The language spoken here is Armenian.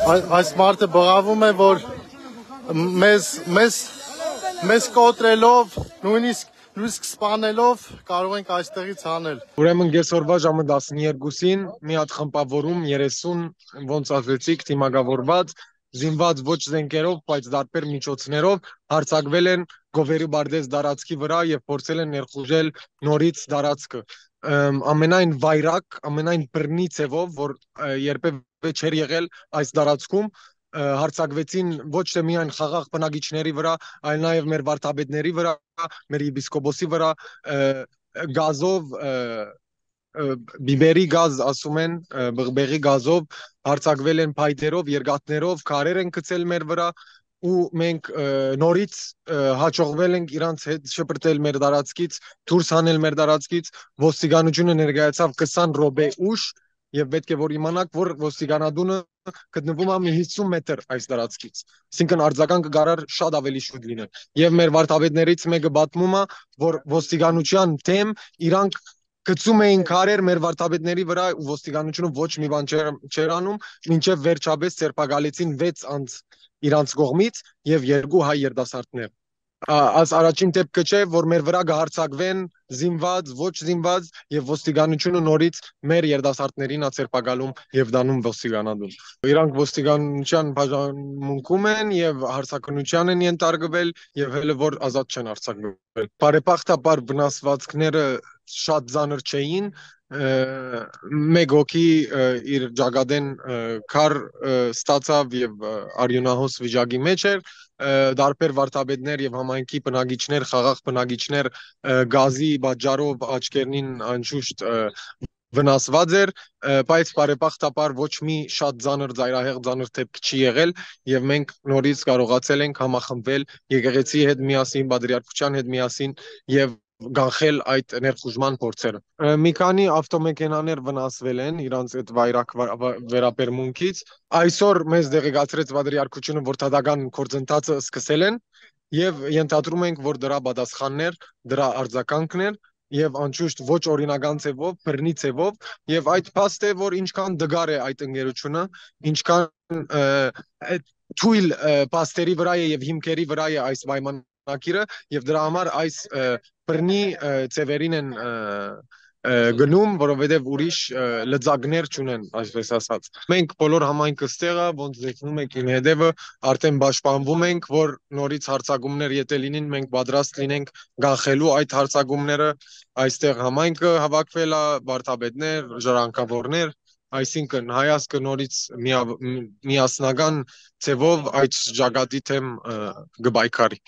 Այս մարդը բղավում է, որ մեզ կոտրելով, նույնիսկ սպանելով կարող ենք այստեղից հանել։ Ուրեմն կեսօրվա ժամը 12-ին մի հատ խմբավորում 30 ոնց ասեցիք թիմակավորված զինված ոչ զենքերով, բայց դարբեր միջոցներով հարձակվել են Գովերի Բարդես դարածքի վրա եւ փորձել են ներխուժել նորից դարածքը։ Ամենայն վայրակ, ամենայն բռնի ցևով, որ երբևէ չէր եղել այս դարածքում, հարձակվեցին ոչ թե միայն խաղաղ բնակիչների վրա, այլ նաև մեր վարդապետների վրա, մեր եպիսկոպոսի վրա, գազով բիբերի գազ ասում են, բղբեղի գազով հարձակվել են փայտերով, երկաթներով, քարեր են գցել մեր վրա ու մենք նորից հաջողվել ենք իրանց հետ շպրտել մեր դարածքից, դուրս հանել մեր դարածքից, ոստիկանությունը ներկայացավ 20 րոպե ուշ եւ պետք է որ իմանաք, որ ոստիկանադունը գտնվում է մի 50 մետր այս դարածքից։ Այսինքն արձագանքը գարար շատ ավելի շուտ լինել։ Եվ մեր վարդապետներից մեկը պատմում է, որ ոստիկանության դեմ իրանք գցում էին քարեր մեր վարդապետների վրա ու ոստիկանությունը ոչ մի բան չէր անում, մինչև վերջապես ցերպակալեցին 6 անձ իրանց կողմից եւ 2 հայ երիտասարդներ։ Այս առաջին դեպքը չէ, որ մեր վրա կհարձակվեն զինված, ոչ զինված եւ ոստիկանությունը նորից մեր երիտասարդներին է ցերպակալում եւ դանում ոստիկանադուն։ Իրանք ոստիկանության բաժանմունքում են եւ հարցակնության են ենթարկվել եւ հələ որ ազատ չեն արձակվել։ Բարեբախտաբար վնասվածքները շատ ծանր չէին, մեկ հոգի իր ճակատեն քար ստացավ եւ արյունահոս վիճակի մեջ էր, դարբեր վարդապետներ եւ համայնքի բնակիչներ, խաղաղ բնակիչներ գազի պատճառով աչքերնին անշուշտ վնասված էր, բայց բարեբախտաբար ոչ մի շատ ծանր ծայրահեղ ծանր դեպք չի եղել եւ մենք նորից կարողացել ենք համախմբվել եկեղեցի հետ միասին, պատրիարքության հետ միասին եւ գանխել այդ ներխուժման փորձերը։ Մի քանի ավտոմեքենաներ վնասվել են իրանց այդ վայրակ վերապերմունքից։ Այսօր մեզ դեղեկացրեց պատրիարքությունը, որ դատական գործընթացը սկսել են եւ ենթադրում ենք, որ դրա պատասխաններ, դրա արձագանքներ եւ անշուշտ ոչ օրինական ցևով, բռնի ցևով եւ այդ փաստ է, որ ինչքան դգար է այդ ընկերությունը, ինչքան թույլ փաստերի վրա է եւ հիմքերի վրա է այս պայմանագիրը եւ դրա համար այս բռնի ցևերին են գնում, որովհետև ուրիշ լծակներ չունեն, այսպես ասած։ Մենք բոլոր համայնքը ստեղը, ոնց դեքնում եք իմ հետևը, արդեն պաշտպանվում ենք, որ նորից հարձակումներ եթե լինին, մենք պատրաստ լինենք գանխելու այդ հարձակումները, այստեղ համայնքը հավաքվել է, վարդապետներ, ժառանգավորներ, այսինքն հայազգը նորից միասնական ցևով այդ ճակատի թեմ կպայքարի։